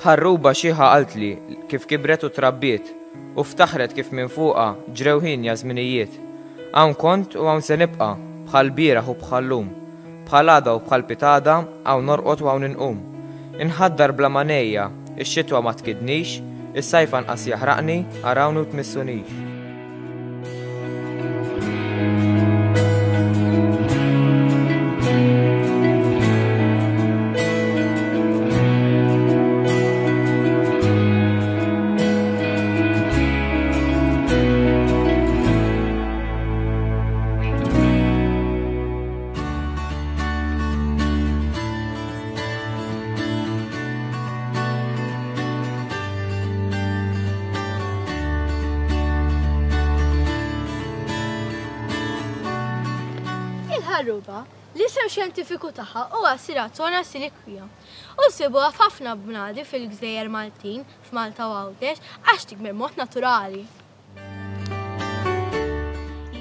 Ħarruba xiħa qaltli kif kibret u trabbiet u ftaħret kif minn fuqha ġrew hienja żminijiet. Hawn kont u hawn se nibqa', bħal bieraħ u bħal-lum. Bħal għada u bħal pitgħada, hawn norqod u hawn inqum. Inħaddar bla ma ngħejja, ix-xitwa ma tkiddnix, is-sajf anqas jaħraqni, arawni u tmissunix. Il-ħarruba, l-isem xjentifiku tagħha huwa Siratona siliquia, u nsibuha f'ħafna bnadi fil-gżejjer Maltin, f'Malta u Għawdex, għax tikber mod naturali.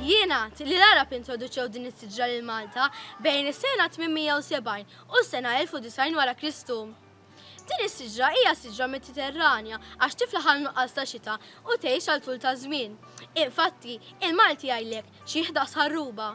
Jingħad li l-Għarab introduċew din is-siġra lil Malta bejn is-sena 870 u s-sena 1090 wara Kristu. Din is-siġra hija siġra Mediterranja għax tiflaħ għal nuqqas ta' xita u tgħix għal tul ta' żmien. Infatti, il-Malti jgħidlek xi ħdas ħarruba.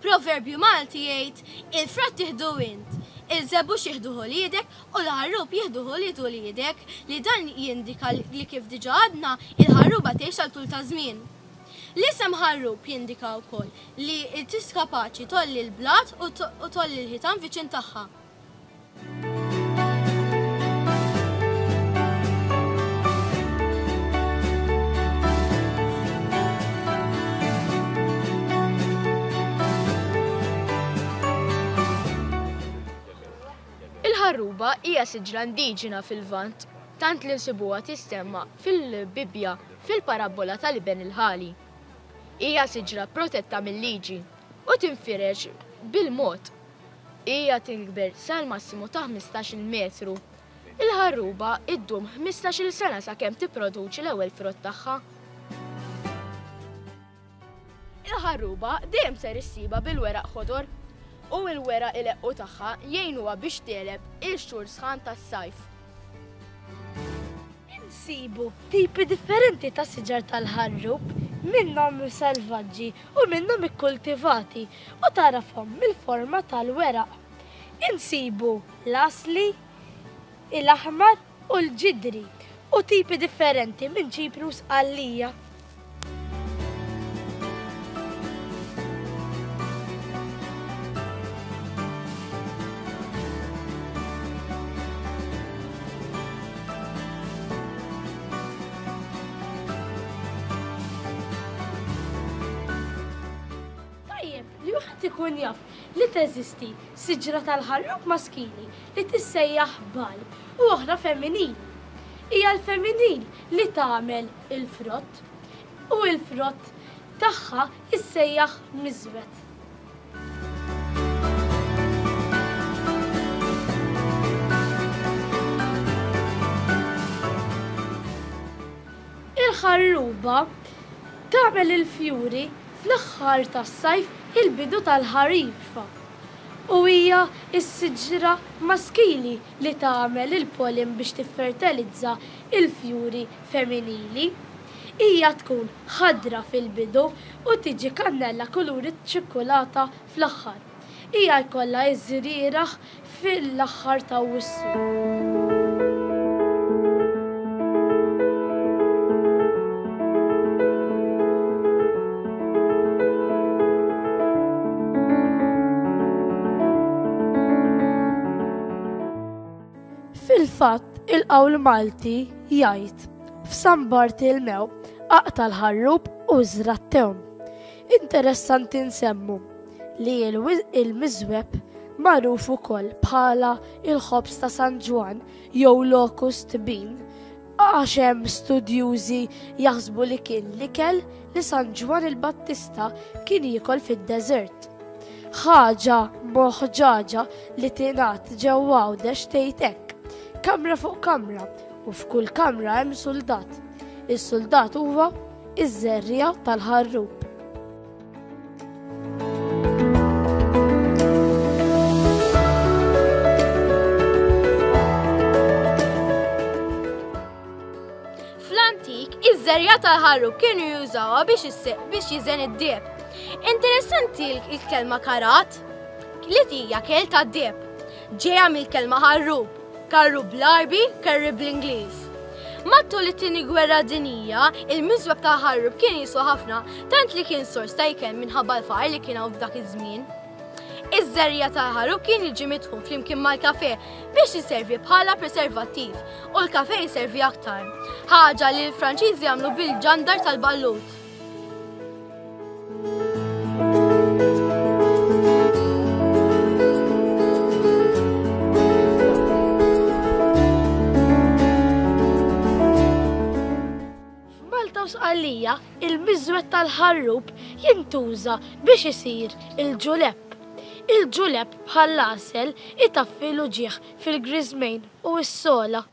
Proverbju Malti jgħid, il-frott tieħdu int, il-żebbuġ jieħduh uliedek u l-ħarrub jieħduh ulied uliedek, li dan jindika li kif diġà għadna, il-ħarruba tgħix għal tul ta' żmien. L-isem ħarrub jindika wkoll li tis kapaċi tgħolli l-blat u tgħolli l-ħitan viċin tagħha. Il-ħarruba hija siġra indiġena fil-Lvant, tant li nsibuha tissemma fil-Bibbja fil-parabbola tal-iben il-ħali. Hija siġra protetta mil-liġi u tinfirex bil-mod. Hija tikber sal-massimu ta' 15-il metru. Il-ħarruba ddum 15-il sena sakemm tipproduċi l-ewwel frott tagħha. Il-ħarruba dejjem ser issibha bil-weraq ħodor u l-weraq ileqqu tagħha jgħinuha biex tegħleb il-xhur sħan tas-sajf. Insibu tipi differenti ta' siġar tal-ħarrub, minnhom selvaġġi u minnhom ikkultivati u tagħrafhom mill-forma tal-weraq. Insibu l-għasli, il-aħmar u l-ġidri u tipi differenti minn Ċipru u Sqallija. Tajjeb li wieħed ikun jaf li teżisti siġra tal-ħarrub maskili li tissejjaħ bal u oħra femminili. Hija l-femminil li tagħmel il-frott u l-frott tagħha jissejjaħ miżwed. Il-ħarruba tagħmel il-fjuri fl-aħħar tas-sajf il-bidu tal-ħarifa u hija s-siġra maskili li tagħmel il-pollen biex tiffertilizza l-fjuri femminili. Hija tkun ħadra fil-bidu u tiġi kannella kulur iċ-ċikkulata fl-aħħar. Hija jkollha ż-żrieragħ fil-aħħar t'Awwissu. Fil-fatt, il-qawl Malti jgħid, F'San Bartilmew aqta' l-ħarrub u iżra' t-tewm. Interessanti nsemmu li l-miżweb magħruf ukoll bħala l-ħobż ta' San Ġwann jew locust bean għax hemm studjużi jaħsbu li kien l-ikel li San Ġwann il-Battista kien jiekol fid-deżert. Ħaġa moħġaġa li tingħad ġewwa Għawdex tgħid hekk, Kamra fuq kamra u f'kull kamra hemm suldat. Is-suldat huwa iż-żerriegħa tal-ħarrub. Fl-antik, iż-żerriegħa tal-ħarrub kienu jużawha biex biex jiżen id-deheb. Interessanti l-kelma karat li hija kel tad-deheb. Ġejja mill-kelma ħarrub, karru bl-Għarbi, curry bl-Ingliż. Matul it-Tieni Gwerra Dinjija, il-miżweb ta' ħarrub kien jiswa ħafna, tant li kien sors ta' ikel minħabba l-faqar li kien hawn f'dak iż-żmien. Iż-żerriegħa tal-ħarrub kien jiġi mitħun flimkien mal-kafè biex iservi bħala preservattiv u l-kafè jservi aktar. Ħaġa li l-Franċiżi għamlu bil-ġandar tal-ballut. F'Malta u Sqallija, il-miżwed tal-ħarrub jintuża biex isir il-ġulepp. Il-ġulepp bħall-għasel itaffi l-uġigħ fil-griżmejn u s-sogħla.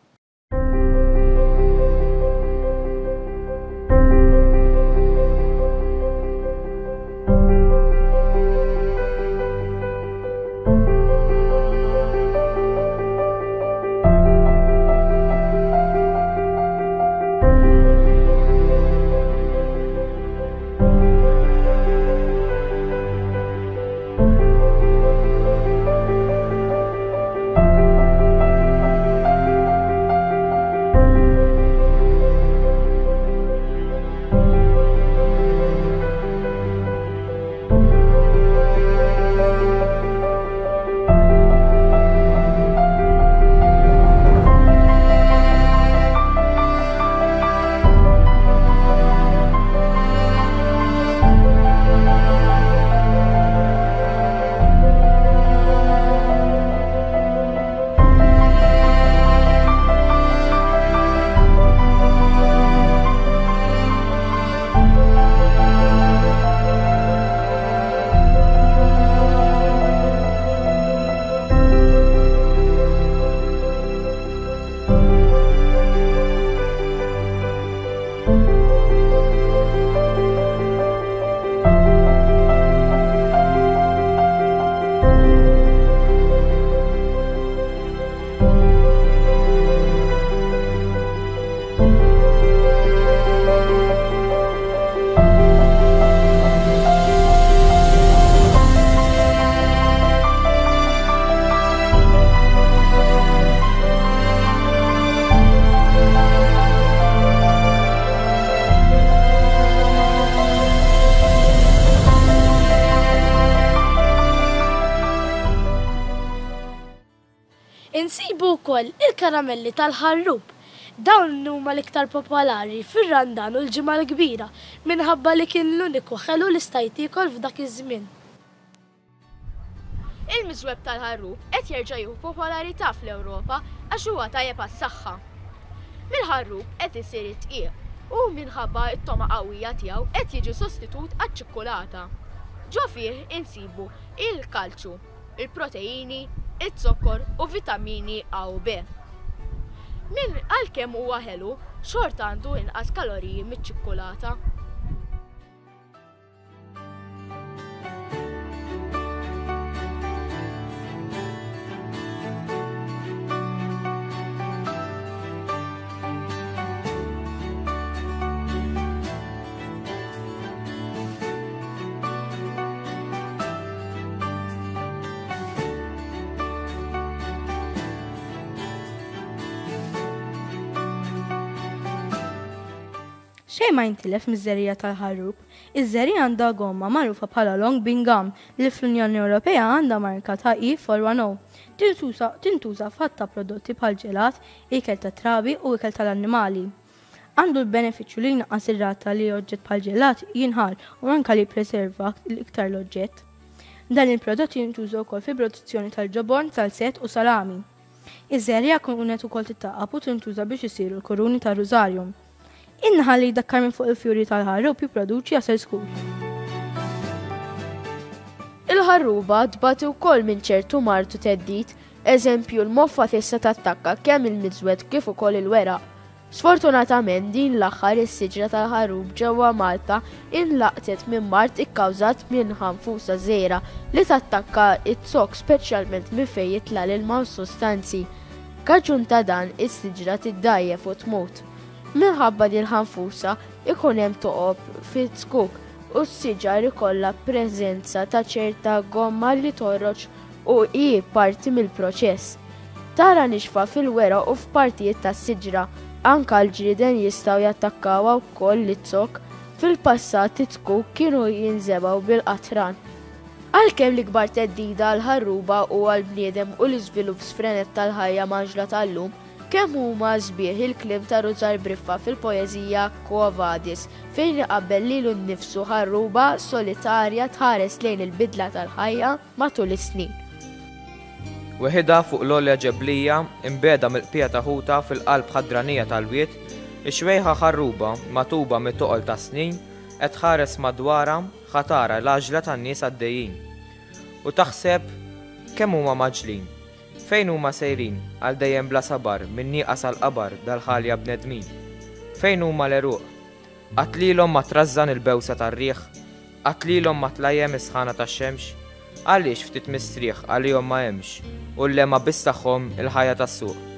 Insibu wkoll il-karamelli tal-ħarrub. Dawn huma l-iktar popolari fir-Randan u l-Ġimgħa l-Kbira minħabba li kien l-uniku ħelu li stajt tiekol f'dak iż-żmien. Il-miżweb tal-ħarrub qed jerġa' jieħu popolarità fl-Ewropa għax huwa tajjeb għas-saħħa. Mill-ħarrub qed isir id-dqiq u minħabba t-togħma qawwija tiegħu qed jiġi sostitut għaċ-ċikkulata. Ġo fih insibu il-kalċju, il-proteini, iz-zokkor u vitamini A u B. Min għalkemm huwa ħelu, xorta għandu inqas kaloriji miċ-ċikkulata. Xejn ma jintilef miż-żerriegħa tal-ħarrub. Iż-żerriegħa għandha gomma magħrufa bħala Long Bean Gum li fl-Unjoni Ewropea għandha marka ta' E410. Tintuża f'għadd ta' prodotti bħal ġelat, ikel tat-trabi u ikel tal-annimali. Għandu l-benefiċċju li jnaqqas ir-rata li oġġett bħal ġelat jinħall u anke li jippreserva iktar l-oġġett. Dan il-prodott jintuża wkoll fil-produzzjoni tal-ġobon, salzett u salami. Iż-żerriegħa kienet ukoll tittaqqab u tintuża biex isiru l-kuruni tar-rużarju. In-naħal li jdakkar minn fuq il-fjuri tal-ħarrub jipproduċi għasel skur. Il-ħarruba tbati wkoll minn ċertu mard u theddid, eżempju l-moffa tista' tattakka kemm il-miżwed kif ukoll il-weraq. Sfortunatament din l-aħħar is-siġra tal-ħarrub ġewwa Malta inlaqtet minn mard ikkawżat minn ħanfusa żgħira li tattakka z-zokk speċjalment minn fejn jitla' l-ilma u s-sustanzi. Kaġun ta' dan is-siġra tiddgħajjef u tmut. Minħabba din il-ħanfusa ikun hemm toqob fiz-zkuk u s-siġar ikollha preżenza ta' ċerta gomma li toħroġ u hi parti mill-proċess. Tara nixfa fil-weraq u f'partijiet tas-siġra. Anka l-ġrieden jistgħu jattakkawha wkoll l-zokk. Fil-passat iz-zkuk kienu jinżebgħu bil-qatran. Għalkemm l-ikbar theddida għall-ħarruba hu għall-bniedem u l-iżvilupp sfrenat tal-ħajja mgħaġġla tal-lum, kemm huma sbieħ il-kliem ta' Rużar Briffa fil-poeżija Quo Vadis fejn iqabbel lilu nnifsu ħarruba solitarja tħares lejn il-bidla tal-ħajja matul is-snin. Weħidha fuq l-għolja ġeblija, imbiegħda mill-qpiegħa ta' ħutha fil-qalb ħadranija tal-wied, ix-xwejħa ħarruba, magħtuba mit-toqol tas-snin, qed tħares madwarha Ħa tara l-għaġla tan-nies għaddejjin. U taħseb, Kemm huma mgħaġġlin! Fejn huma sejrin, għal dejjem bla sabar, min-nieqa sal-qabar, dal-ħalja bnedmin? Fejn huma l-għeruq? Qatt lilhom ma trażżan il-bewsa tar-riħ? Qatt lilhom ma tlajjem is-sħana tax-xemx? Għaliex ftit mistrieħ għalihom ma hemmx, u l-lehma biss tagħhom il-ħajja tas-suq?